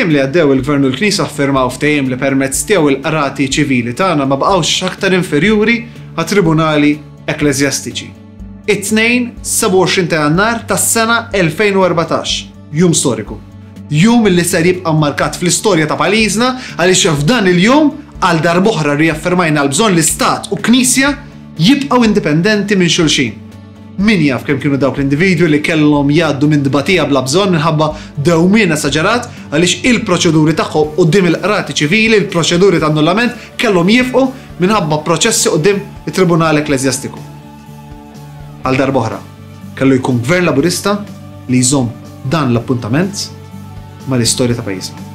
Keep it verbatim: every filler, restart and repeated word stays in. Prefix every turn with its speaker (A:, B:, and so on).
A: Fil-jiem li għaddew, il-Gvern u l-Knisja ffirmaw ftehim li permezz tiegħu il-qrati ċivili tagħna ma baqgħux aktar inferjuri għat-tribunali ekkleżjastiċi. It-Tnejn sebgħa u għoxrin ta' Jannar tas-sena elfejn u erbatax, jum storiku. Jum li ser jibqa' markat fl-istorja ta' pajjiżna, għaliex f'dan il-jum għal darb'oħra riaffermajna l-bżonn li stat u Knisja jibqgħu indipendenti minn xulxin. Min jaf kemm kienu dawk l-individwi li kellhom jgħaddu minn dbatija bla bżonn minħabba dewmien esaġerat għaliex il-proċeduri tagħhom quddiem il-qrati ċivili, il-proċeduri ta' annullament, kellhom jieqfu minħabba proċessi quddiem it-Tribunal Ekkleżjastiku. Għal darb'oħra, kellu jkun gvern Laburista li jżomm dan l-appuntament mal-istorja ta' pajjiżna.